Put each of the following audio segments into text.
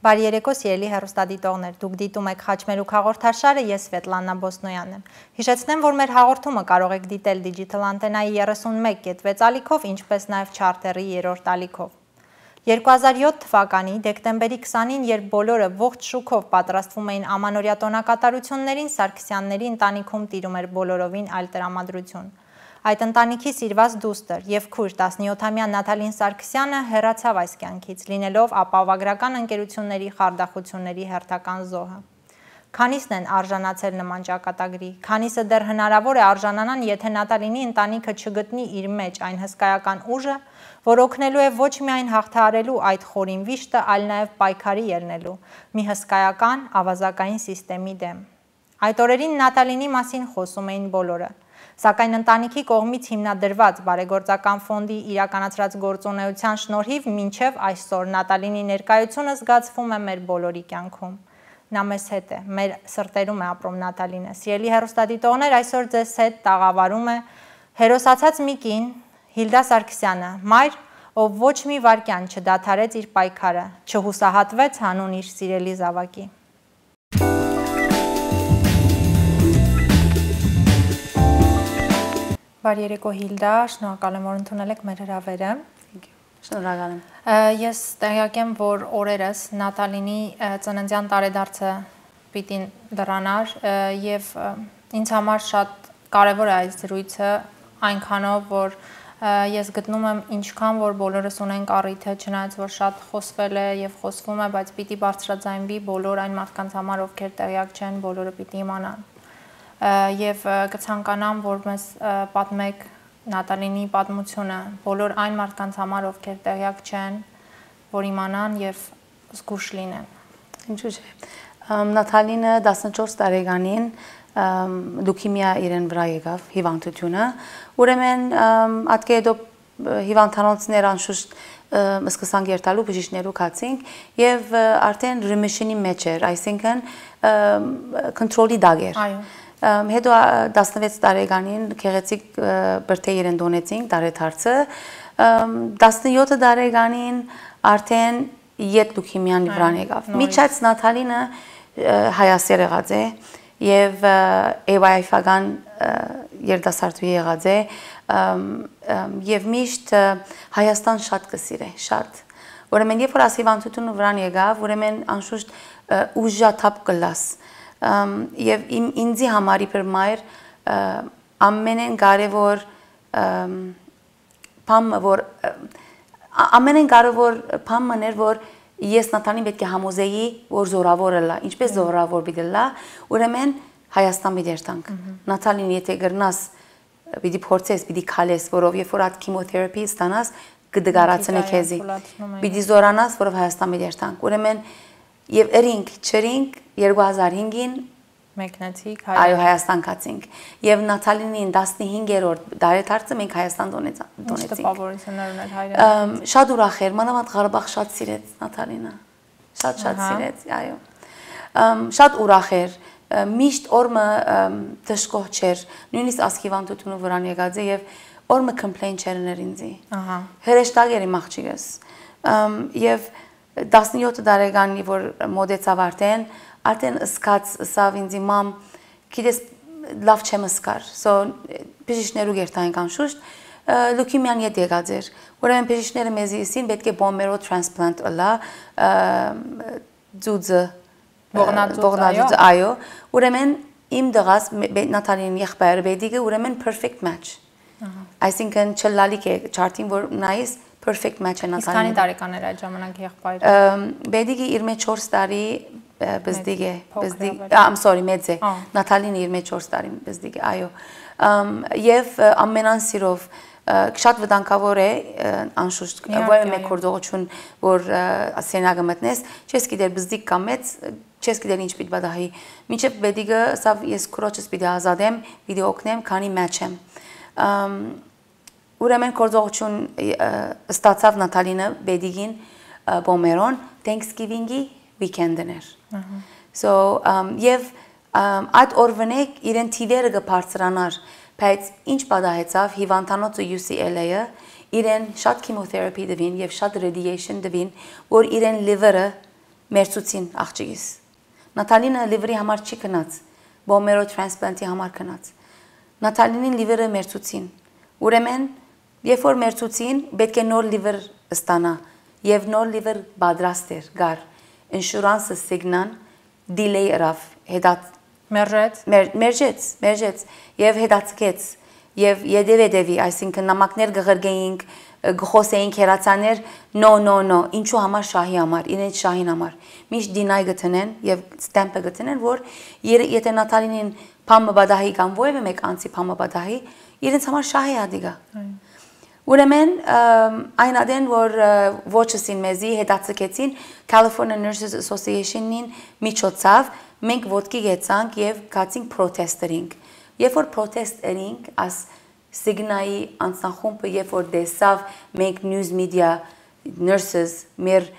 Բարի երեկո, սիրելի հեռուստադիտողներ, դուք դիտում եք Խաչմերուկ հաղորդաշարը, ես Սվետլանա Բոսնոյանն եմ։ Հիշեցնեմ, որ մեր հաղորդումը կարող եք դիտել Digital Antenna-ի 31.6 ալիքով, ինչպես նաև Charter-ի 3-րդ ալիքով։ 2007 թվականի դեկտեմբերի 20-ին, երբ բոլորը ողջ շուքով պատրաստվում էին ամանորյա տոնակատարություններին, Սարգսյանների ընտանիքում տիրում էր բոլորովին այլ տրամադրություն։ Այդ ընտանիքի սիրված դուստր եւ քույր 17-ամյա Նաթալին Սարգսյանը հեռացավ այս կյանքից, լինելով ապահովագրական ընկերությունների խարդախությունների հերթական զոհը։ Քանիսն են արժանացել նման ճակատագրի, քանիսը դեռ հնարավոր է արժանանան, եթե Նաթալինի ընտանիքը չգտնի իր մեջ այն հսկայական ուժը, որ օգնելու է ոչ միայն հաղթահարելու այդ խորին վիշտը, այլ նաև պայքարի ելնելու մի հսկայական ավազակային սիստեմի դեմ։ Այդ օրերին Նաթալինի մասին խոսում էին բոլորը։ Սակայն ընտանիքի կողմից հիմնադրված բարեգործական ֆոնդի իրականացրած գործունեության շնորհիվ մինչև այսօր Նաթալինի ներկայությունը զգացվում է մեր բոլորի կյանքում։ Նա մեզ հետ է, մեր սրտերում է ապրում Նաթալինը։ Սիրելի հեռուստադիտողներ, այսօր ձեզ հետ տաղավարում է հերոսացած մի կին, Հիլդա Սարգսյանը, մայր, ով ոչ մի վայրկյան չդադարեց իր պայքարը, չհուսահատվեց հանուն իր սիրելի զավակի։ Բարի երեկո Հիլդա, շնորհակալ եմ, որ ընդունել եք մեր հրավերը։ Շնորհակալ եմ։ Ես տեղյակ եմ, որ օրերս Նաթալինի ծննդյան տարեդարձը պիտի դրանար եւ ինձ համար շատ կարեւոր է այս զրույցը այնքանով, որ ես գտնում եմ ինչքան որ բոլորս ունենք առիթը, չնայած որ շատ խոսվել է եւ խոսվում է, բայց պիտի բարձրաձայնվի բոլոր այն մարդկանց համար, ովքեր տեղյակ չեն, բոլորը պիտի իմանան։ Եվ կցանկանամ, որ մեզ պատմեք Նաթալինի պատմությունը բոլոր այն մարդկանց համար, ովքեր տեղյակ չեն, որ իմանան եւ զգուշ լինեն։ Ինչու՞ չէ։ Նաթալինը 14 տարեկանին լուկեմիա իրեն վրա եկավ հիվանդությունը, ուրեմն ատկեդո հիվանդանոցներ անշուշտ սկսանք երթալու բժիշկներու կացինք եւ արդեն remission-ի մեջ էր, այսինքն կոնտրոլի դակ էր։ Այո։ Հետո 16 տարեկանին գեղեցիկ բրդե իրեն դոնեցինք տարեդարձը, 17 տարեկանին արդեն ետ լուկեմիան վրան եկավ։ Միջած Նաթալինը հայասեր եղած է եւ AYF-ական երիտասարդու եղած է եւ միշտ Հայաստան շատ կսիրե, շատ։ Ուրեմն երբ որ ասիվանտությունը վրան եկավ, ուրեմն անշուշտ ուժաթափ կլաս եւ ինձի համար իբր մայր ամենեն կարևոր բանը որ ամենեն կարևոր բանը որ ես Նաթալին պետք է համոզեի որ զորավոր է, ինչպես զորավոր պիտի լա, ուրեմն Հայաստան պիտի երթանք։ Նաթալին եթե գրնաս պիտի փորձես, պիտի քալես, որով երբ որ այդ քիմոթերապի ստանաս կդգարացնե քեզի։ Պիտի զորանաս, որով Հայաստան պիտի երթանք։ Ուրեմն եւ երինք չրինք 2005-ին մեկնեցիք այո Հայաստան կացինք եւ Նաթալինին 15-րդ տարեդարձը մենք Հայաստան դոնեցինք։ Ինչ տպավորություններ ուներ հայրենիքից։ Շատ ուրախ էր, մանավանդ Ղարաբաղ շատ սիրեց Նաթալինը։ Շատ սիրեց, այո։ Շատ ուրախ էր, միշտ օրը դժգոհ չէր, նույնիսկ ասկիվանտությունը վրան եկած է եւ օրը complain չէր ներ ինձի։ Ահա։ Հրեշտակ էր իմ աղջիկս։ Եվ 17 տարեկանի որ մոդեցավ արդեն սկաց սավ ինձի մամ գիտես լավ չեմ սկար so բժիշկներու երթային անշուշտ լուկեմիան ետ եկած էր ուրեմն բժիշկները մեզի իսին պետք է բոմերո տրանսպլանտ ըլա ձուձը ողնաձուձ այո ուրեմն իմ դղաս Նաթալին եղբայրը բեդիկը ուրեմն perfect match այսինքն չլալիք է չարթին որ նայես perfect match է Նաթալին։ Իսկ քանի տարեկան էր այդ ժամանակ եղբայրը։ Բեդիկը իր մեջ 4 տարի բզդիկ է, I'm sorry, մեծ է։ Նաթալին իր մեջ 4 տարի բզդիկ է, այո։ Եվ ամենանսիրով շատ վտանգավոր է անշուշտ ովքեր մեկ գործողություն որ ասենագը մտնես, չես գիտեր բզդիկ կամ մեծ, չես գիտեր ինչ պիտի բադահի։ Մինչև բեդիկը սավ ես քրոջս պիտի ազատեմ, պիտի օգնեմ, քանի match եմ։ Ուրեմն գործողություն ստացավ Նաթալինը բեդիկին բոմերոն Thanksgiving-ի weekend-ն էր։ So եւ այդ օրվանեք իրեն թիվերը կբարձրանար, բայց ինչ պատահեցավ հիվանդանոցը UCLA-ը իրեն շատ քիմոթերապի դվին եւ շատ radiation դվին, որ իրեն liver-ը մերցուցին աղջիկիս։ Նատալինը լիվրի համար չի գնաց, բոմերո տրանսպլանտի համար գնաց։ Նատալինին լիվրը մերցուցին։ Ուրեմն, երբ որ մերցուցին, պետք է նոր լիվր ստանա, եւ նոր լիվր պատրաստ էր գար։ Ինշուրանսը սիգնան դիլեյ ըրավ, հետա մերժեց եւ հետացկեց եւ յետևի, այսինքն նամակներ գղրգեինք, գխոսեինք հերացաներ, no, ինչու համար շահի համար, իրենց շահին համար։ Միշտ դինայ գտնեն եւ ստեմպը գտնեն, որ եթե Նատալինին փամը բադահի կամ ովևէ մեկ անցի փամը բադահի, իրենց համար շահի ադիգա։ Ուրեմն այն ադեն որ ոչսին մեզի հետացկեցին California Nurses Association-ին միջոցով մենք ոտքի գեցանք եւ գացինք պրոտեստերինք։ Երբ որ պրոտեստերինք աս Signai անձնախումբը երբ որ դեսավ մենք news media nurses մեր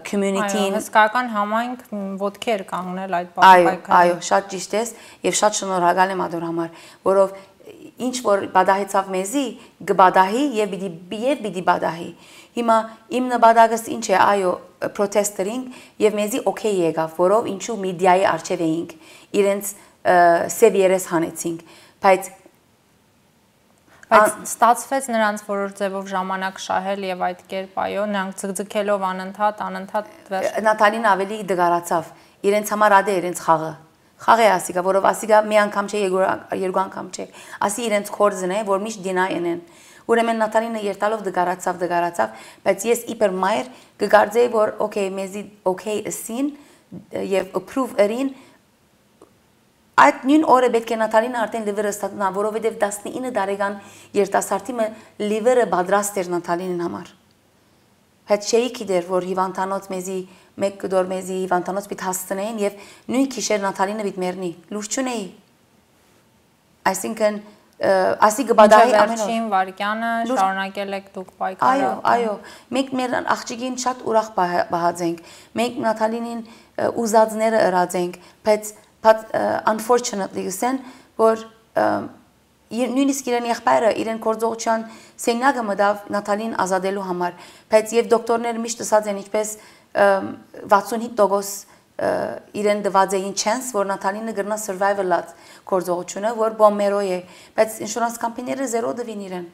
community-ին հսկական համայնք ոտքի էր կանգնել այդ պայքարին։ Այո, շատ ճիշտ է եւ շատ շնորհակալ եմ ադոր համար, որով ինչ որ բադահեցավ մեզի գբադահի եւ պիտի բադահի։ Հիմա իմ նպատակս ինչ է, այո, պրոտեստերինք եւ մեզի օքեյ եկավ, որով ինչու մեդիայի արչեւ էինք, իրենց սև երես հանեցինք, բայց ստացվեց նրանց որոշ ձևով ժամանակ շահել եւ այդ կերպ այո, նրանք ձգձգելով անընդհատ Նատալին ավելի դգարացավ, իրենց համար ադե իրենց խաղը Խաղ է ասիկա, որով ասիկա մի անգամ չէ, երկու անգամ չէ։ Ասի իրենց կորձն է, որ միշտ դինայ են։ Ուրեմն Նատալինը երտալով դգարացավ, բայց ես իբր մայր կգարձեի, որ օքեյ, մեզի օքեյ ըսին եւ approve ըրին։ Այդ նույն օրը պետք է Նատալինը արդեն լիվերը ստանա, որովհետեւ 19 տարեկան երիտասարդի լիվերը պատրաստ էր Նատալինին համար։ Հետ չէի գիտեր, որ հիվանդանոց մեզի մեկ կդոր մեզի հիվանդանոց պիտ հասցնեին եւ նույն քիշեր Նատալինը պիտ մեռնի։ Լույս չունեի։ Այսինքն ասի գբադայի ամեն վարկյանը շարունակել եք դուք պայքարը։ Այո, մենք մեր աղջիկին շատ ուրախ բահացենք։ Մենք Նատալինին ուզածները ըրացենք, բայց unfortunately գսեն, որ նույնիսկ իրեն եղբայրը իրեն գործողության սենյակը մտավ Նատալին ազատելու համար, բայց եւ դոկտորները միշտ ասած են ինչպես 65% իրեն դված էին chance, որ Նատալինը գրնա survival-ած գործողությունը, որ բոմերո է, բայց ինշուրանս կամպանիները զերո դվին իրեն։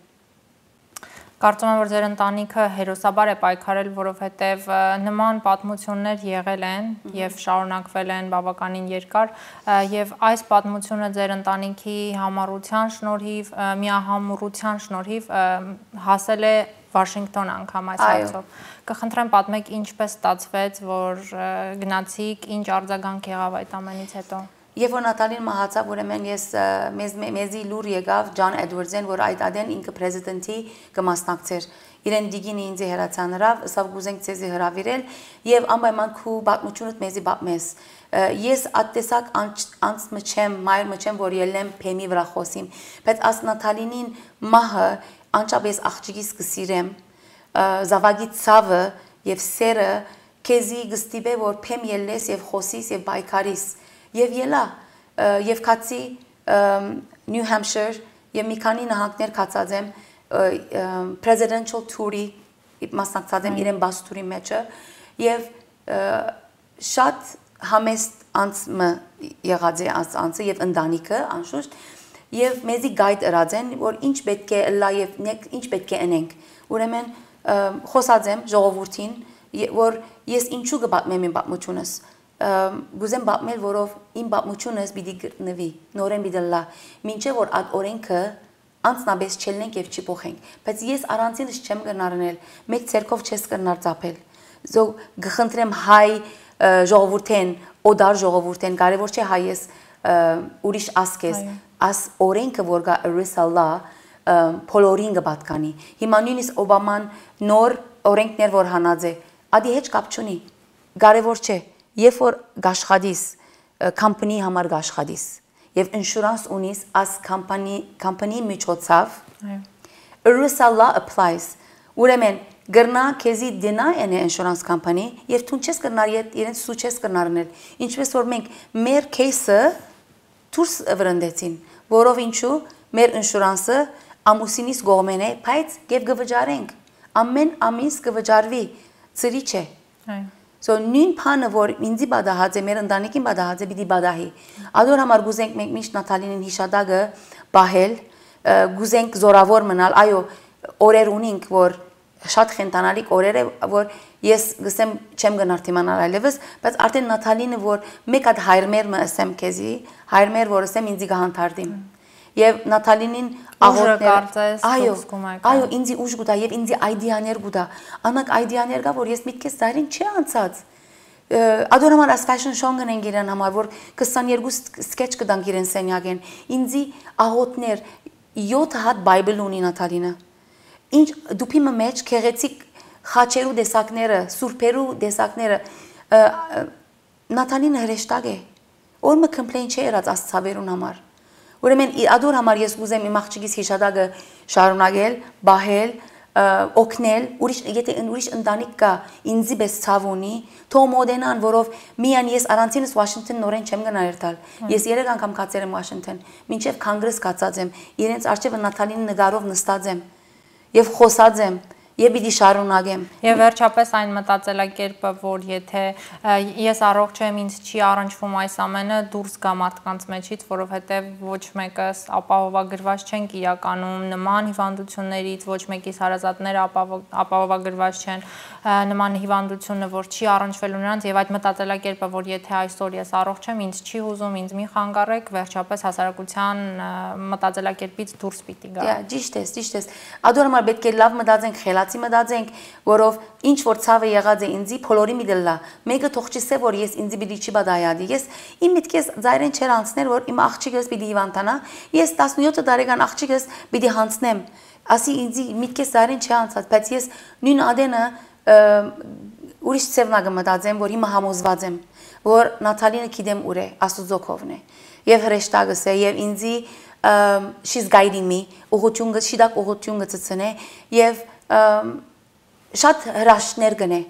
Կարծում եմ, որ ձեր ընտանիքը հերոսաբար է պայքարել, որովհետև նման պատմություններ եղել են եւ շարունակվել են բավականին երկար, եւ այս պատմությունը ձեր ընտանիքի համառության շնորհիվ, միահամուռության շնորհիվ հասել է Վաշինգտոն անգամ այս հարցով։ Կխնդրեմ պատմեք ինչպես ստացվեց, որ գնացիք, ինչ արձագանք եղավ այդ ամենից հետո։ Երբ որ Նատալին մահացավ, ուրեմն ես մեզի լուր եկավ Ջոն Էդվարդսեն, որ այդ ադեն ինքը պրեզիդենտի կմասնակցեր։ Իրեն դիգին ինձ հերացանրավ, սավ գուզենք ցեզի հրավիրել եւ անպայման քու պատմությունդ մեզի պատմես։ Ես ատտեսակ անց մչեմ, մայր մչեմ, որ ելեմ փեմի վրա խոսիմ, բայց աս Նատալինին մահը անչափ աղջիկիս կսիրեմ, զավակի ցավը եւ սերը քեզի գստիբե որ փեմ ելես եւ խոսիս եւ բայկարիս եւ ելա եւ կացի New Hampshire եւ մի քանի նահանգներ կացած եմ presidential tour-ի մասնակցած եմ իրեն բաց tour-ի մեջը եւ շատ համեստ անցը եղած է անցը եւ ընտանիքը անշուշտ եւ մեզի գայդ ըրած են որ ինչ պետք է լա եւ ինչ պետք է անենք ուրեմն խոսած եմ ժողովրդին որ ես ինչու կպատմեմ իմ պատմությունս գուզեմ պատմել որով իմ պատմությունս պիտի գտնվի նորեն պիտի լա մինչեւ որ այդ օրենքը անցնաբես չելնենք եւ չփոխենք բայց ես առանցինս չեմ գնարնել մեկ ցերկով չես կնար ծափել զո գխնդրեմ հայ ժողովուրդեն օդար ժողովուրդեն կարևոր չէ հայես ուրիշ ասկես as օրենքը որ գա ռիսալա փոլորին կպատկանի հիմա նույնիսկ օբաման նոր օրենքներ որ հանած է ադի հետ կապ չունի կարևոր չէ երբ որ գաշխադիս կամպանիի համար գաշխադիս եւ ինշուրանս ունիս as կամպանիի միջոցով ռիսալա applies ուրեմն գրնա քեզի դինա են ինշուրանս կամպանի եւ թուն չես կնար իրենց սու չես կնարնել ինչպես որ մենք մեր кейսը դուրս վրընդեցին որով ինչու մեր ինշուրանսը ամուսինիս գողմեն է բայց եւ գվճարենք ամեն ամիս գվճարվի ծրի չէ So նույն բանը որ ինձի բադահած է, մեր ընտանիքին բադահած է, պիտի բադահի։ Ադոր համար գուզենք մենք միշտ Նաթալինին հիշադակը բահել, գուզենք զորավոր մնալ, այո, օրեր ունենք, որ շատ խենտանալիք օրեր է, որ ես գսեմ չեմ գնար թիմանալ այլևս, բայց արդեն Նաթալինը որ մեկ հատ հայրմեր մը ասեմ քեզի, հայրմեր որ ասեմ ինձի գահանթարդիմ։ Եվ Նաթալինին այո, ինձի ուժ գուտա եւ ինձի այդեաներ գուտա։ Անակ այդեաներ կա, որ ես միտքես ծայրին չի անցած։ Ադոր համար as fashion show-ն գնենք իրեն համար, որ 22 sketch կդանք իրեն սենյակեն։ Ինձի աղոտներ 7 հատ Bible ունի Նաթալինը։ Ինչ դուփի մեջ քեղեցիկ խաչերու դեսակները, սուրբերու դեսակները Նաթալինը հրեշտակ է։ Օրը complain չի երած աստծավերուն համար։ Ուրեմն ադոր համար ես ուզեմ իմ աղջիկիս հիշադակը շարունակել, բահել, օգնել, եթե ուրիշ ընտանիք կա ինձի պես ցավ ունի, թող մոդենան, որով միան ես առանցինս Վաշինգտոն նորեն չեմ գնա երթալ։ Ես 3 անգամ կացել եմ Վաշինգտոն, մինչև կոնգրես կացած եմ, իրենց արչևը Նաթալինի նկարով նստած եմ եւ խոսած եմ եւ պիտի շարունակեմ։ Եվ վերջապես այն մտածելակերպը, որ եթե ես առողջ եմ, ինձ չի առնչվում այս ամենը, դուրս գա մարդկանց մեջից, որովհետեւ ոչ մեկս ապահովագրված չենք իրականում նման հիվանդություններից, ոչ մեկիս հարազատները ապահովագրված չեն նման հիվանդությունը, որ չի առնչվելու նրանց եւ այդ մտածելակերպը, որ եթե այսօր ես առողջ եմ, ինձ չի հուզում, ինձ մի խանգարեք, վերջապես հասարակության մտածելակերպից դուրս պիտի գա։ Ճիշտ ես։ Ադոր համար պետք է լավ մտածենք, խելացի մտածենք, որով ինչ որ ցավը եղած է ինձի փոլորի միդելա։ Մեկը թող չսե որ ես ինձի պիտի չի բադայադի։ Ես իմ միտքես ծայրեն չեր անցներ, որ իմ աղջիկս պիտի հիվանդանա։ Ես 17 տարեկան աղջիկս պիտի հանցնեմ։ Ասի ինձի միտքես ծայրեն չի անցած, բայց ես նույն ադենը ուրիշ ծևնագը մտածեմ, որ հիմա համոզված եմ, որ Նաթալինը գիտեմ ուր է, Աստուծո կողմն է։ Եվ հրեշտակս է, եւ ինձի she's guiding me, ուղղությունը շիդակ ուղղությունը ցցնե եւ շատ հրաշներ գնե,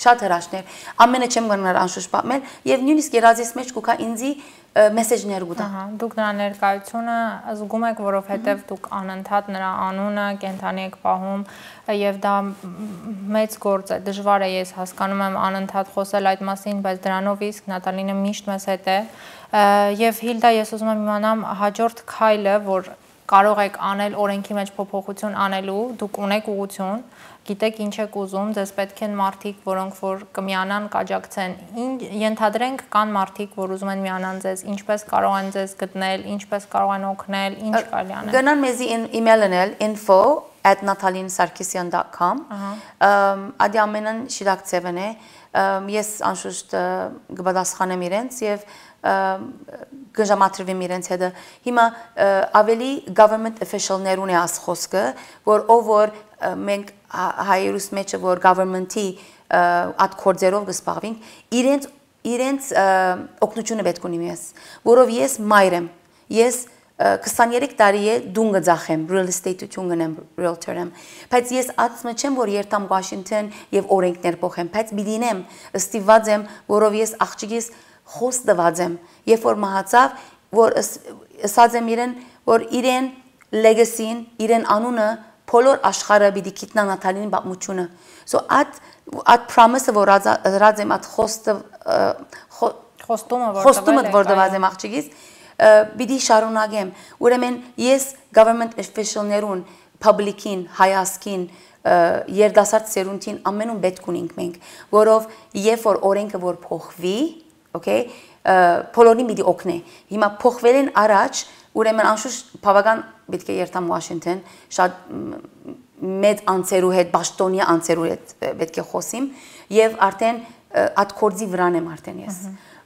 շատ հրաշներ։ Ամենը չեմ գնար անշուշտ պատմել եւ նույնիսկ երազիս մեջ կուքա ինձի մեսեջներ գուտա։ Դուք նրա ներկայությունը զգում եք, որովհետև դուք անընդհատ նրա անունը կենթանի եք պահում եւ դա մեծ գործ է, դժվար է, ես հասկանում եմ անընդհատ խոսել այդ մասին, բայց դրանով իսկ Նատալինը միշտ մեզ հետ է եւ Հիլդա, ես ուզում եմ իմանամ հաջորդ քայլը, որ կարող եք անել օրենքի մեջ փոփոխություն անելու, դուք ունեք ուղղություն, գիտեք ինչ եք ուզում, ձեզ պետք են մարդիկ, որոնք որ կմիանան, կաջակցեն։ Ենթադրենք կան մարդիկ, որ ուզում են միանան ձեզ, ինչպես կարող են ձեզ գտնել, ինչպես կարող են օգնել, ինչ կարելի անել։ Գնան մեզի email անել info@natalinsarkisyan.com Ադի ամենն շիրակցևն է, ես անշուշտ կպատասխանեմ իրենց եւ գժամատրվեմ իրենց հետ։ Հիմա ավելի government official-ներուն է աս խոսքը, որ ով որ մենք հայերուս մեջը որ government-ի այդ կորձերով կսպաղվենք, իրենց օգնությունը պետք ունի ես, որով ես մայր եմ, ես 23 տարի է դուն գծախեմ, real estate-ություն գնեմ, realtor եմ, բայց ես ածմը չեմ, որ երթամ Washington եւ օրենքներ փոխեմ, բայց բիդինեմ, ստիված եմ, որով ես աղջիկիս խոս դված եմ, երբ որ մահացավ, որ ասած եմ իրեն, որ իրեն legacy-ին, իրեն անունը բոլոր աշխարհը պիտի գիտնա Նաթալինի պատմությունը։ So at promise-ը որ ըրած եմ, at խոստումը որ դված եմ աղջիկիս, պիտի շարունակեմ։ Ուրեմն ես government official-ներուն, public-ին, հայասքին, երդասարդ սերունդին ամենում պետք ունենք մենք, որով երբ որ օրենքը որ փոխվի, okay, բոլորին պիտի օգնի։ Հիմա փոխվելեն առաջ, ուրեմն անշուշտ բավական պետք է երթամ Washington, շատ մեծ անձերու հետ, բաշտոնյա անձերու հետ պետք է խոսիմ եւ արդեն այդ կորձի վրան եմ արդեն ես։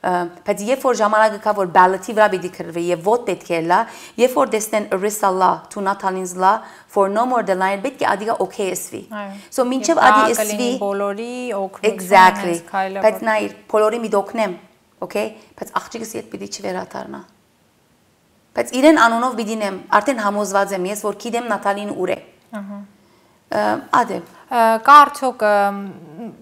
Բայց երբ որ ժամանակը կա որ ballot-ի վրա պիտի քրվի եւ vote պետք է լա, երբ որ դեսնեն ERISA law to Natalin's law for no more than line պետք է ադիգա OKSV։ So մինչեւ ադի SV բոլորի օգնություն exactly։ Բայց նայ բոլորի մի դոկնեմ, okay, բայց աղջիկս իդ պիտի չվերադառնա։ Բայց իրեն անունով պիտինեմ, արդեն համոզված եմ ես, որ գիտեմ Նաթալին ուր է։ Ադե։ Կա արդյոք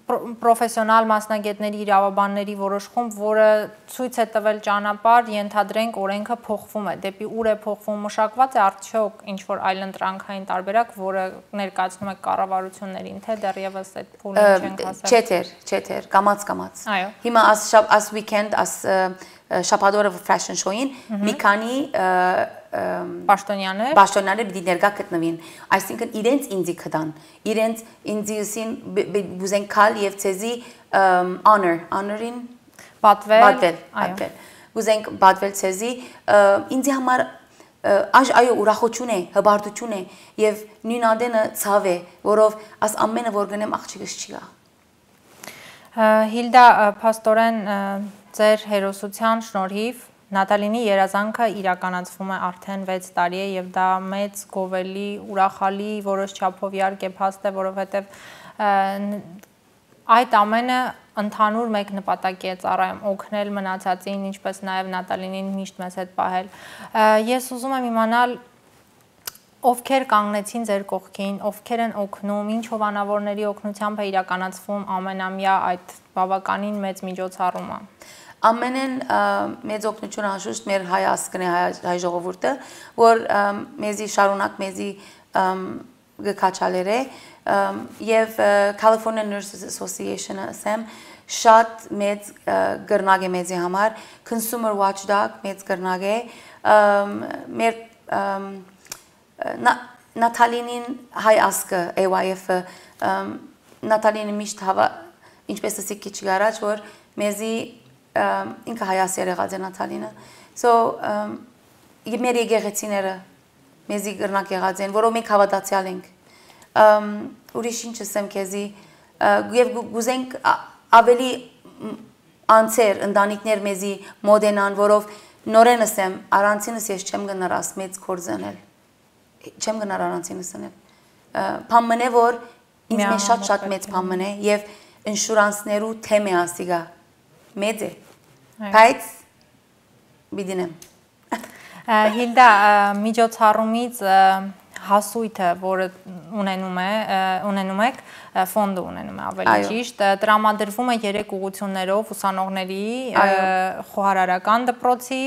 պրոֆեսիոնալ մասնագետների իրավաբանների որոշ խումբ, որը ցույց է տվել ճանապարհ, ենթադրենք օրենքը փոխվում է, դեպի ուր է փոխվում, մշակված է արդյոք ինչ որ այլընտրանքային տարբերակ, որը ներկայացնում է կառավարություններին, թե դեռևս այդ փուլին չենք հասել։ Չէ, կամաց։ Այո։ Հիմա as weekend շաբաթօրը fashion show-ին մի քանի պաշտոնյաներ պիտի ներկա գտնվին, այսինքն իրենց ինձի կդան, իրենց ինձին բուզեն կալ եւ ցեզի honor-ին պատվել, բուզեն պատվել ցեզի ինձի համար այո ուրախություն է, հբարտություն է եւ նույն ադենը ցավ է, որով աս ամենը որ գնեմ աղջիկս չի գա։ Հիլդա փաստորեն ձեր հերոսության շնորհիվ Նատալինի երազանքը իրականացվում է արդեն 6 տարի է եւ դա մեծ գովելի, ուրախալի, որոշ չափով իհարկե փաստ է, որովհետեւ այդ ամենը ընդհանուր մեկ նպատակի է ծառայում օգնել մնացածին, ինչպես նաեւ Նատալինին միշտ մեզ հետ պահել։ Ես ուզում եմ իմանալ ովքեր կանգնեցին ձեր կողքին, ովքեր են օգնում, ինչ հովանավորների օգնությամբ է իրականացվում ամենամյա այդ բավականին մեծ միջոցառումը։ Ամենեն մեծ օգնություն անշուշտ մեր հայ ազգն է, հայ ժողովուրդը, որ մեզի շարունակ մեզի գկաչալեր է եւ California Nurses Association-ը ասեմ շատ մեծ գրնակ է մեզի համար, Consumer Watchdog մեծ գրնակ է, մեր Նատալինին հայ ազգը AYF-ը Նատալինը միշտ հավա ինչպես ասի քիչ առաջ որ մեզի ինքը հայասեր եղած է Նատալինը so մեր եկեղեցիները մեզի գրնակ եղած են որով մենք հավատացյալ ենք ուրիշ ինչ ասեմ քեզի եւ գուզենք ավելի անցեր ընտանիքներ մեզի մոդենան որով նորեն ասեմ առանցինս ես չեմ գնարած մեծ կորզանել չեմ գնար առանցինս անել փամմն է որ ինձ մեջ շատ մեծ փամմն է եւ ինշուրանսներու թեմը ասիգա մեծ է բայց բիդինեմ Հիլդա միջոցառումից հասույթը որը ունենում եք ֆոնդը ունենում է ավելի ճիշտ տրամադրվում է 3 ուղղություններով ուսանողների խոհարարական դպրոցի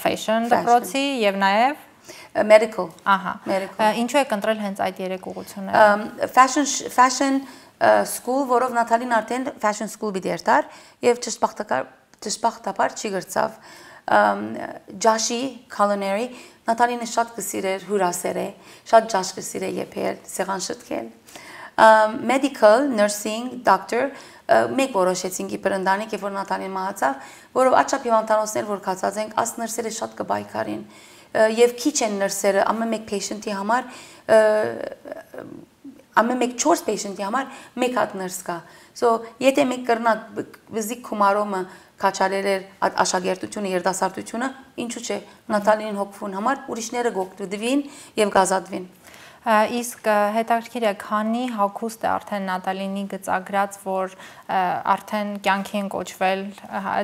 fashion դպրոցի եւ նաեւ medical ահա ինչու եք ընտրել հենց այդ 3 ուղղությունները fashion school որով Նատալին արդեն fashion school բիդերտար եւ ճշմարտաբար չի գրծավ Joshi culinary Նատալինը շատ կսիրեր հյուրասեր է շատ ջաշ կսիրեր եփել սեղան շտկել medical nursing doctor մեկ որոշեցինք իբր ընտանիք երբ որ Նատալին մահացավ որով աչափ հիվանդանոցներ որ կացած ենք աս նրսերը շատ կբայքարին եւ քիչ են նրսերը ամեն մեկ patient-ի համար ամեն մեկ 4 patient-ի համար մեկ հատ նրս կա so եթե մեկ կրնակ բզիկ կումարոմը քաչալեր աշակերտությունը երդասարտությունը ինչու՞ չէ Նատալինին հոգվուն համար ուրիշները գոկտուդվին եւ գազադվին Իսկ հետաքրքիր է քանի հագուստ է արդեն Նատալինի գծագրած որ արդեն կյանքի են կոչվել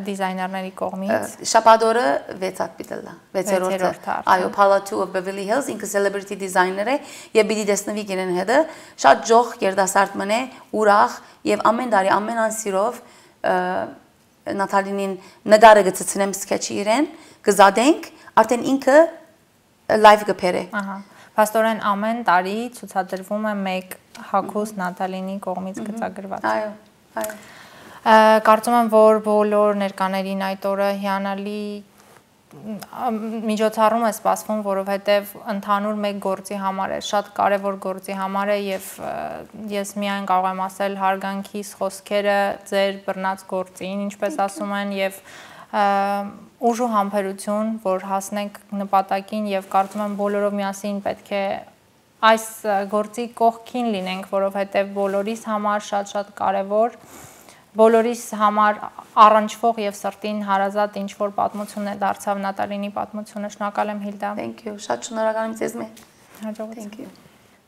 դիզայներների կողմից Շաբաթօրը 6-ատ պիտելա 6-րդ այո Palace of Beverly Hills ինքը celebrity designer է եւ պիտի տեսնվի իրեն հետը շատ ջող երդասարտ մնե ուրախ եւ ամեն տարի ամեն անսիրով Նատալինին նկարը գծցնեմ սկեչի իրեն գզադենք արդեն ինքը live գբերը ահա Փաստորեն ամեն տարի ցուցադրվում է մեկ հագուստ Նատալինի կողմից գծագրված։ Այո։ Կարծում եմ, որ բոլոր ներկաներին այդ օրը հիանալի միջոցառում է սպասվում, որովհետև ընդհանուր մեկ գործի համար է, շատ կարևոր գործի համար է եւ ես միայն կարող եմ ասել հարգանքիս խոսքերը ձեր բռնած գործին, ինչպես ասում են եւ ուժ ու համբերություն, որ հասնենք նպատակին եւ կարծում եմ բոլորով միասին պետք է այս գործի կողքին լինենք, որովհետեւ բոլորիս համար շատ կարեւոր, բոլորիս համար առնչվող եւ սրտին հարազատ ինչ որ պատմություն է դարձավ Նատալինի պատմությունը։ Շնորհակալ եմ Հիլդա։ Thank you, շատ շնորհակալ եմ ձեզ։ Հաջողություն։ Thank you։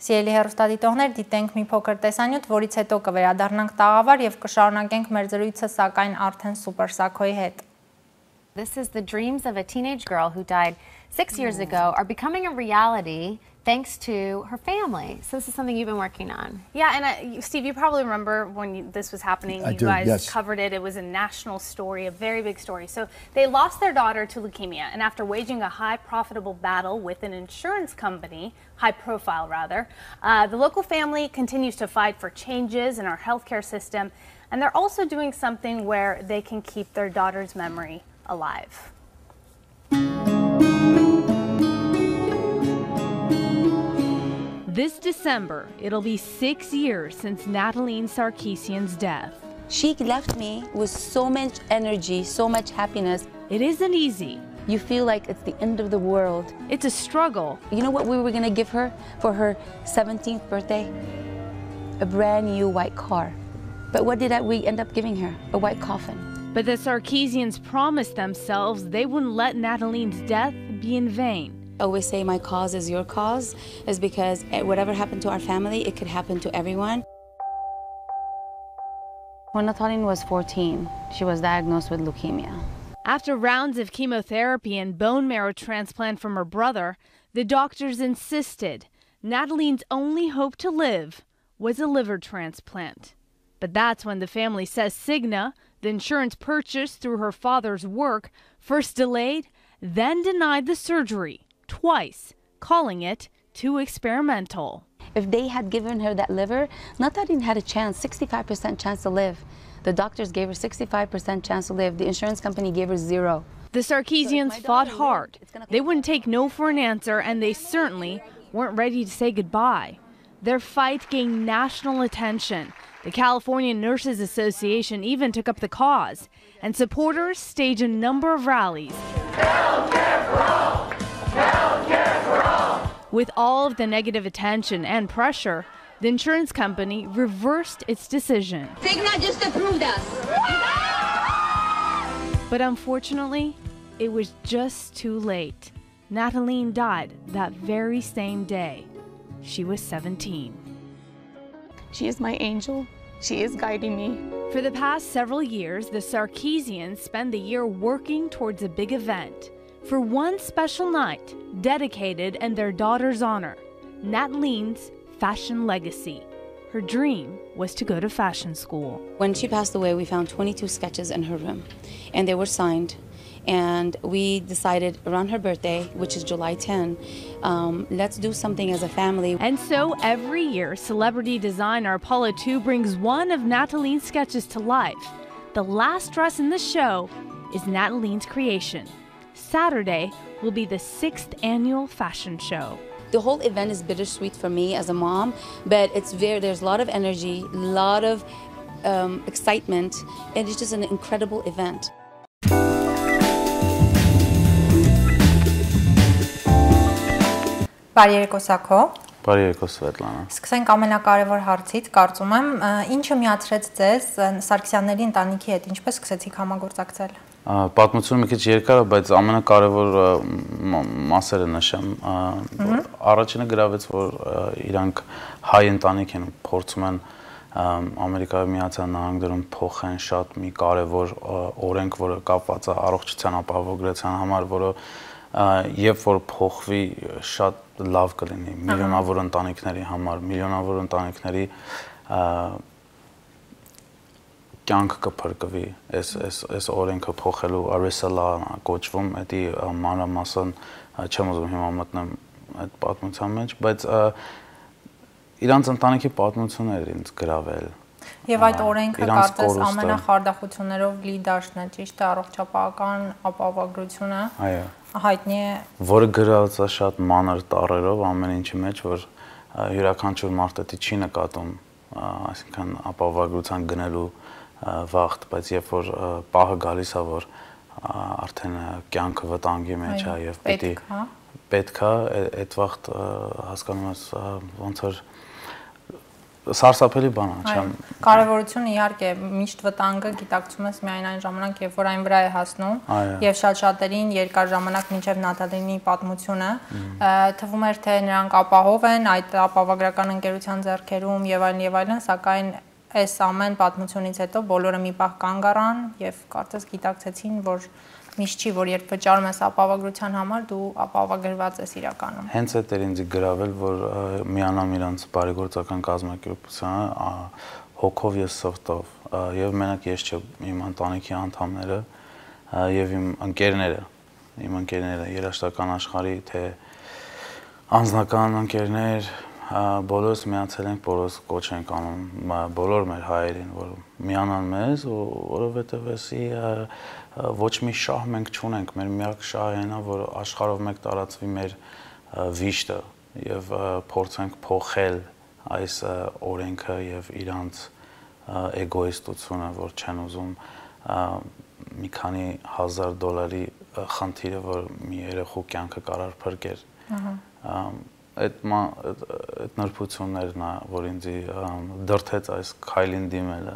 Սիրելի հեռուստադիտողներ, դիտենք մի փոքր տեսանյութ, որից հետո կվերադառնանք տաղավար եւ կշարունակենք մեր զրույցը սակայն արդեն Սուպեր Սաքոյի հետ։ This is the dreams of a teenage girl who died 6 years ago are becoming a reality thanks to her family. So this is something you've been working on. Yeah, and Steve, you probably remember when this was happening, you guys covered it. It was a national story, a very big story. So they lost their daughter to leukemia, and after waging a high profitable battle with an insurance company, high profile rather, the local family continues to fight for changes in our healthcare system, and they're also doing something where they can keep their daughter's memory alive. This December, it'll be 6 years since Nataline Sarkisian's death. She left me with so much energy, so much happiness. It isn't easy. You feel like it's the end of the world. It's a struggle. You know what we were gonna give her for her 17th birthday? A brand new white car. But what did we end up giving her? A white coffin. But the Sarkisians promised themselves they wouldn't let Nataline's death be in vain. I always say my cause is your cause, is because whatever happened to our family, it could happen to everyone. When Nataline was 14, she was diagnosed with leukemia. After rounds of chemotherapy and bone marrow transplant from her brother, the doctors insisted Nataline's only hope to live was a liver transplant. But that's when the family says Cigna, the insurance purchased through her father's work, first delayed, then denied the surgery. Twice, calling it too experimental. If they had given her that liver, Nataline had a chance, 65% chance to live. The doctors gave her 65% chance to live. The insurance company gave her 0. The Sarkisians fought hard. They wouldn't take no for an answer, and they certainly weren't ready to say goodbye. Their fight gained national attention. The California Nurses Association even took up the cause, and supporters staged a number of rallies. Healthcare for all! Healthcare for all! With all of the negative attention and pressure, the insurance company reversed its decision. Cigna just approved us. But unfortunately, it was just too late. Nataline died that very same day. She was 17. She is my angel. She is guiding me. For the past several years, the Sarkisians spend the year working towards a big event. For one special night dedicated in their daughter's honor, Nataline's fashion legacy. Her dream was to go to fashion school. When she passed away, we found 22 sketches in her room, and they were signed. And we decided around her birthday, which is July 10, let's do something as a family. And so every year, celebrity designer Paula Tu brings one of Nataline's sketches to life. The last dress in the show is Nataline's creation. Saturday will be the 6th annual fashion show. The whole event is bittersweet for me as a mom, but there's a lot of energy, a lot of excitement, and it's just an incredible event. Բարի երեկո Սաքո։ Բարի երեկո Սվետլանա։ Սկսենք ամենակարևոր հարցից, կարծում եմ, ինչը միացրեց ձեզ Սարգսյանների ընտանիքի հետ, ինչպես սկսեցիք համագործակցել։ Պատմությունը մի քիչ երկար է, բայց ամենակարևոր մասերը նշեմ։ Առաջինը գրավեց, որ իրանք հայ ընտանիք են, փորձում են Ամերիկայի Միացյալ Նահանգներում փոխեն շատ մի կարևոր օրենք, որը կապված է առողջության ապահովագրության համար, որը երբ որ փոխվի շատ լավ կլինի միլիոնավոր ընտանիքների համար, միլիոնավոր ընտանիքների կյանք կփրկվի, այս օրենքը փոխելու Արեսալա կոչվում, դա մանրամասն չեմ ուզում հիմա մտնեմ այդ պատմության մեջ, բայց իրանց ընտանիքի պատմությունն էր ինձ գրավել։ Եվ այդ օրենքը կարծես ամենախարդախություններով լի դաշտն է, ճիշտ է, առողջապահական ապահովագրությունը։ Այո։ Հայտնի է, որը գրած է շատ մանր տառերով ամեն ինչի մեջ, որ յուրաքանչյուր մարդ դա չի նկատում, այսինքն ապահովագրության գնելու վաղտ, բայց երբ որ պահը գալիս է, որ արդեն կյանքը վտանգի մեջ է եւ պետք է այդ վաղտ հասկանում ես ոնց որ սարսափելի բան է, չեմ։ Կարևորությունը իհարկե միշտ վտանգը գիտակցում ես միայն այն ժամանակ, երբ որ այն վրա է հասնում, եւ շատ շատերին երկար ժամանակ մինչեւ Նատալինի պատմությունը թվում էր թե նրանք ապահով են այդ ապահովագրական ընկերության ձեռքերում եւ այլն, սակայն այս ամեն պատմությունից հետո բոլորը մի պահ կանգ առան եւ կարծես գիտակցեցին, որ միշտ չի, որ երբ վճարում ես ապահովագրության համար, դու ապահովագրված ես իրականում։ Հենց այդ էր ինձ գրավել, որ միանամ իրանց բարեգործական կազմակերպությանը հոգով եւ սրտով, եւ մենակ ես չէ, իմ ընտանիքի անդամները եւ իմ ընկերները երաժշտական աշխարհի թե անձնական ընկերներ, բոլորս միացել ենք, բոլորս կոչ ենք անում բոլոր մեր հայերին, որ միանան մեզ, որովհետեւ էսի ոչ մի շահ մենք չունենք, մեր միակ շահն է, որ աշխարհով մեկ տարածվի մեր վիշտը եւ փորձենք փոխել այս օրենքը եւ իրանց էգոիստությունը, որ չեն ուզում մի քանի $1000 խնդիրը, որ մի երեխու կյանքը կարող փրկեր։ Այդ նրբություններն է, որ ինձ դրթեց այս քայլին դիմելը։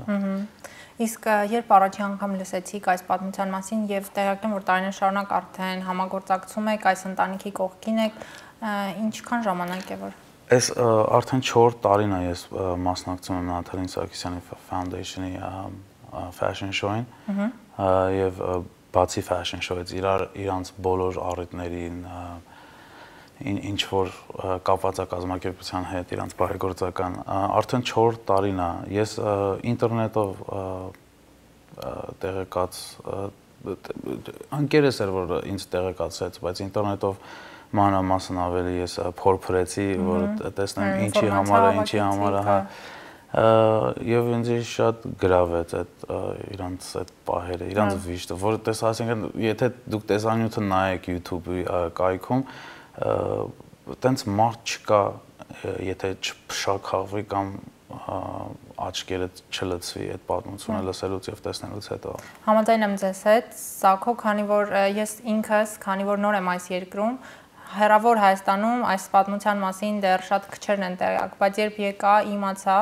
Իսկ երբ առաջի անգամ լսեցիք այս պատմության մասին եւ տեղյակ եմ, որ տարիներ շարունակ արդեն համագործակցում եք, այս ընտանիքի կողքին եք, ինչքան ժամանակ է որ Այս արդեն 4 տարին է ես մասնակցում եմ Նաթալին Սարգսյանի Foundation-ի fashion show-ին եւ բացի fashion show-ից իրանց բոլոր առիթներին ինչ որ կապված է կազմակերպության հետ, իրանց բարեգործական արդեն 4 տարին է ես ինտերնետով տեղեկաց անկերես էր որ ինձ տեղեկացրեց, բայց ինտերնետով մանրամասն ավելի ես փորփրեցի, որ տեսնեմ ինչի համար է, եւ ինձ շատ գրավեց այդ իրանց այդ պահերը, իրանց վիշտը, որ ասենք, եթե դուք տեսանյութը նայեք YouTube-ի կայքում, տենց մարդ չկա, եթե չփշաքաղվի կամ աչքերը չլցվի այդ պատմությունը լսելուց եւ տեսնելուց հետո։ Համաձայն եմ ձեզ հետ, Սակո, քանի որ ես ինքս, քանի որ նոր եմ այս երկրում, հեռավոր Հայաստանում այս պատմության մասին դեռ շատ քչերն են տեղյակ, բայց երբ եկա, իմացա,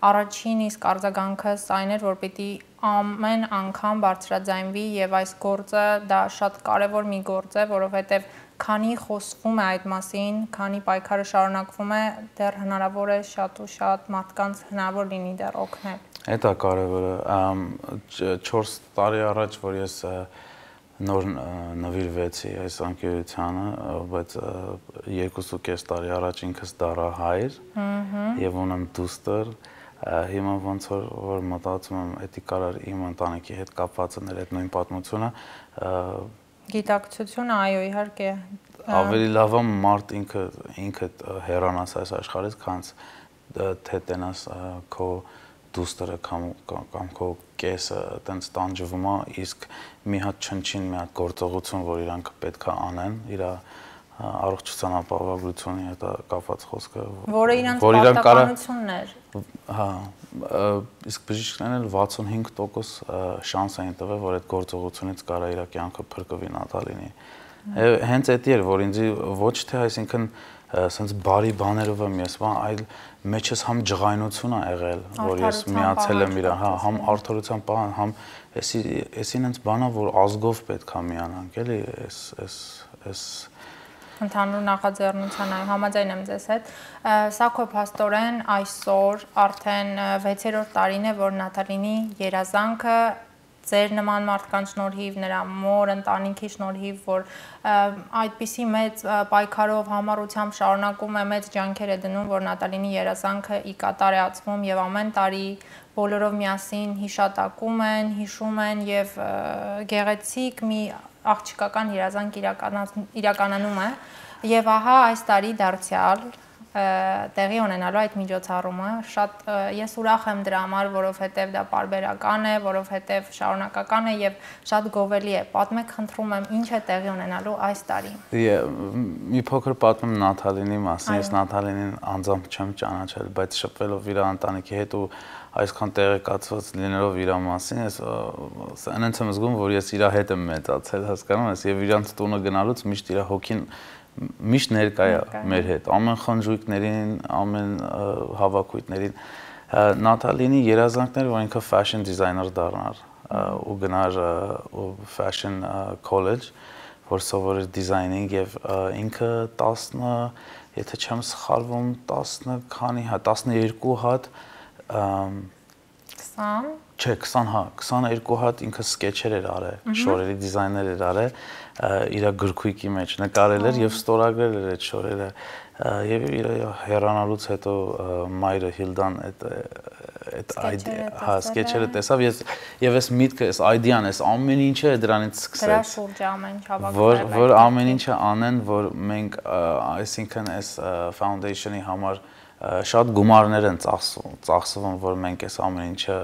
առաջին իսկ արձագանքս այն էր, որ պիտի ամեն անգամ բարձրաձայնվի եւ այս գործը դա շատ կարեւոր մի գործ է, որովհետեւ քանի խոսվում է այդ մասին, քանի պայքարը շարունակվում է, դեռ հնարավոր է շատ ու շատ մարդկանց հնարավոր լինի դեռ օգնել։ Դա կարևորը 4 տարի առաջ, որ ես նոր նվիրվեցի այս անկերությանը, բայց 2.5 տարի առաջ ինքս դառա հայր եւ ունեմ դուստր, հիմա ոնց որ մտածում եմ, դա կարար իմ ընտանիքի հետ կապված լինել այդ նույն պատմությունը, գիտակցությունը, այո, իհարկե, ավելի լավ է մարդ ինքը հեռանաս այս աշխարհից, քան թե տենաս քո դուստերը կամ քո կեսը տենց տանջվում է, իսկ մի հատ չնչին, մի հատ գործողություն, որ իրանք պետք է անեն, իր առողջության ապահովագրությունի հետ կապված խոսքը, որը իրանք պարտականությունն էր։ Հա, իսկ բժիշկներն էլ 65% շանս էին տվել, որ այդ գործողությունից կարա իր կյանքը փրկվի Նաթալինի։ Հենց դա էր, որ ինձ ոչ թե այսինքն սենց բարի բաներով եմ ես, այլ մեջս համ ջղայնություն է եղել, որ ես միացել եմ իր, համ արդարության պահան, համ էսին հենց բանա, որ ազգով պետք է միանանք, էլի, էս ընդհանուր նախաձեռնության, այո, համաձայն եմ ձեզ հետ։ Սակո փաստորեն այսօր արդեն 6-րդ տարին է, որ Նաթալինի երազանքը ձեր նման մարդկանց շնորհիվ, նրա մոր ընտանիքի շնորհիվ, որ այդպիսի մեծ պայքարով համառությամբ շարունակում է, մեծ ջանքեր է դնում, որ Նաթալինի երազանքը ի կատար է ածվում եւ ամեն տարի բոլորով միասին հիշատակում են, հիշում են եւ գեղեցիկ մի աղջիկական երազանք իրականանում է եւ ահա այս տարի դարձյալ տեղի ունենալու այդ միջոցառումը շատ ես ուրախ եմ դրա համար, որովհետև դա պարբերական է, որովհետև շարունակական է եւ շատ գովելի է։ Պատմեք, խնդրում եմ, ինչ է տեղի ունենալու այս տարի։ Մի փոքր պատմեմ Նաթալինի մասին, ես Նաթալինին անձամբ չեմ ճանաչել, բայց շփվելով իր ընտանիքի հետ ու այսքան տեղեկացված լինելով իր մասին, ես այնց եմ զգում, որ ես իր հետ եմ մեծացել, հասկանում ես, եւ իրանց տունը գնալուց միշտ իր հոգին միշտ ներկա է մեր հետ, ամեն խնջույքներին, ամեն հավաքույթներին։ Նաթալինի երազանքն էր, որ ինքը fashion designer դառնար ու գնար fashion college, որ սովորեր դիզայնինգ եւ ինքը 10, եթե չեմ սխալվում, 12 հատ 20 Չէ, 20 հա, 22 հատ ինքը սկեչեր էր արել, շորերի դիզայներ էր արել, իր գրքույկի մեջ նկարել էր եւ ստորագրել էր այդ շորերը եւ իր հեռանալուց հետո մայրը Հիլդան այդ սկեչերը տեսավ եւ այս միտքը, այս այդեան, այս ամեն ինչը դրանից սկսեց։ Դրա շուրջ ամեն ինչ հավաքվել։ Որ ամեն ինչը անեն, որ մենք այսինքն այս foundation-ի համար շատ գումարներ են ծախսվում, որ մենք այս ամեն ինչը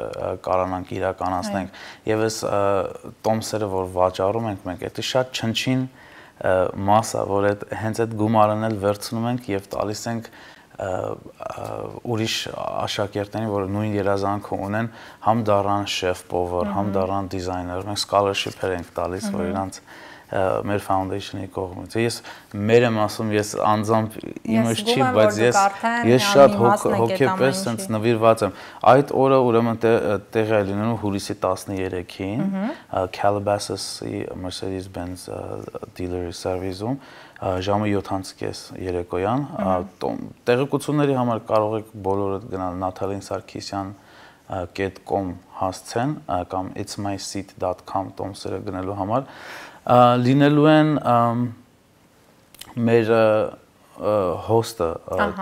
կարողանանք իրականացնենք եւ այս տոմսերը, որ վաճառում ենք մենք, դա շատ չնչին մասա, որ հենց այդ գումարն էլ վերցնում ենք եւ տալիս ենք ուրիշ աշակերտներին, որ նույն երազանքը ունեն, համ դառան շեֆ-պովեր, համ դառան դիզայներ, մենք scholarship-եր ենք տալիս, որ իրանց մեր foundation-ի կողմից։ Ես մեր եմ ասում, ես անձամբ իմս չի, բայց ես շատ հոգեպես sense նվիրված եմ։ Այդ օրը ուրեմն տեղի է լինելու հուլիսի 13-ին Calabasas-ի Mercedes-Benz dealer service-ում ժամը 7:30 երեկոյան։ Տեղեկությունների համար կարող եք բոլորը գնալ natalin.sarkisyan.com հասցեն կամ itsmyseat.com տոմսերը գնելու համար լինելու են մեր հոստը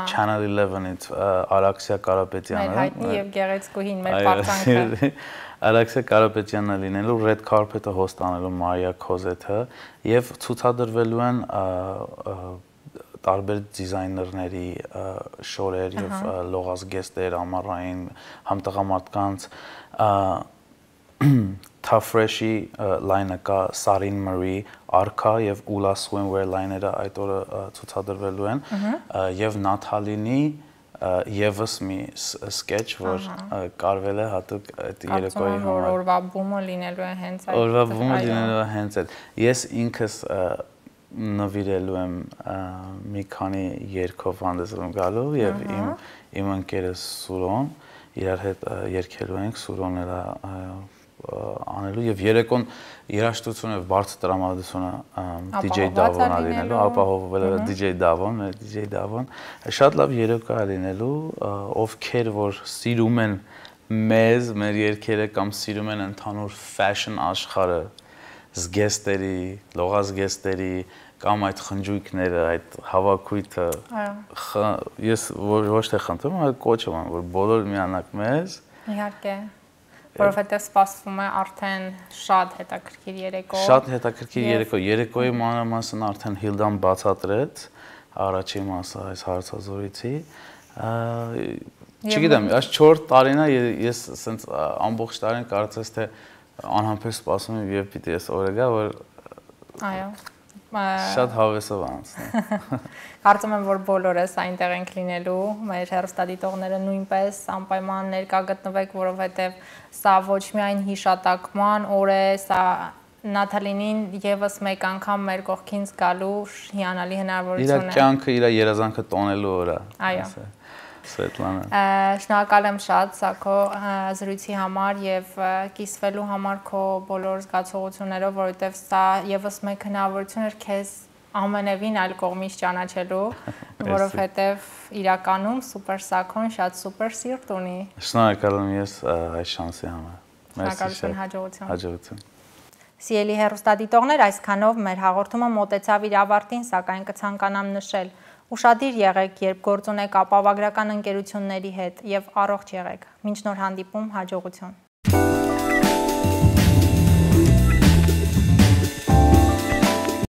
Channel 11-ից Արաքսիա Կարապետյանը, մեր հայտնի եւ գեղեցկուհին մեր պարծանքը Արաքսիա Կարապետյանն է լինելու, Red Carpet-ը հոստ անելու Մարիա Քոզեթը եւ ցուցադրվելու են տարբեր դիզայներների շորեր եւ լողազգեստեր, ամառային համ տղամարդկանց Tafresh-ի line-ը կա, Sarin Marie, Arka եւ Ula Swimwear line-երը այդ օրը ցուցադրվելու են եւ Nathalie-ի եւս մի sketch, որ կարվել է հատուկ այդ երեկոյի համար։ Օրվա բումը լինելու է հենց այդ։ Օրվա բումը լինելու է հենց այդ։ Ես ինքս նվիրելու եմ մի քանի երգով հանդեսում գալու եւ իմ ընկերս Սուրոն իրար հետ երգելու ենք, Սուրոն էլ անելու եւ երեկոն երաժշտությունը եւ բարձր տրամադրությունը DJ Davon-ը լինելու, ապահովվել է DJ Davon, DJ Davon, շատ լավ երեկո է լինելու, ովքեր որ սիրում են մեզ, մեր երգերը կամ սիրում են ընդհանուր fashion աշխարհը, զգեստերի, լողազգեստերի կամ այդ խնջույքները, այդ հավաքույթը, ես ոչ թե խնդրում, այլ կոչում եմ, որ բոլոր միանաք մեզ։ Իհարկե, որովհետև սպասվում է արդեն շատ հետաքրքիր երեկո։ Շատ հետաքրքիր երեկո, երեկոյի մանրամասն արդեն Հիլդան բացատրեց, առաջին մասը այս հարցազրույցի։ Չգիտեմ, այս 4 տարին է ես ասենց ամբողջ տարին կարծես թե անհամբեր սպասում եմ եւ պիտի այս օրը գա, որ այո շատ հավեսով անցնի։ Կարծում եմ, որ բոլորս այնտեղ ենք լինելու, մեր հեռուստադիտողները նույնպես անպայման ներկա գտնվեք, որովհետև սա ոչ միայն հիշատակման օր է, սա Նաթալինին եւս մեկ անգամ մեր կողքին զգալու հիանալի հնարավորություն է։ Իր կյանքը, իր երազանքը տոնելու օր է։ Այո։ Սվետլանա։ Շնորհակալ եմ շատ Սակո զրույցի համար եւ կիսվելու համար քո բոլոր զգացողություններով, որովհետեւ սա եւս մեկ հնարավորություն էր քեզ ամենևին այլ կողմից ճանաչելու, որովհետեւ իրականում Սուպեր Սակոն շատ սուպեր սիրտ ունի։ Շնորհակալ եմ ես այս շանսի համար։ Շնորհակալություն, հաջողություն։ Հաջողություն։ Սիրելի հեռուստադիտողներ, այսքանով մեր հաղորդումը մոտեցավ իր ավարտին, սակայն կցանկանամ նշել. Ուշադիր եղեք, երբ գործ ունեք ապահովագրական ընկերությունների հետ եւ առողջ եղեք։ Մինչ նոր հանդիպում, հաջողություն։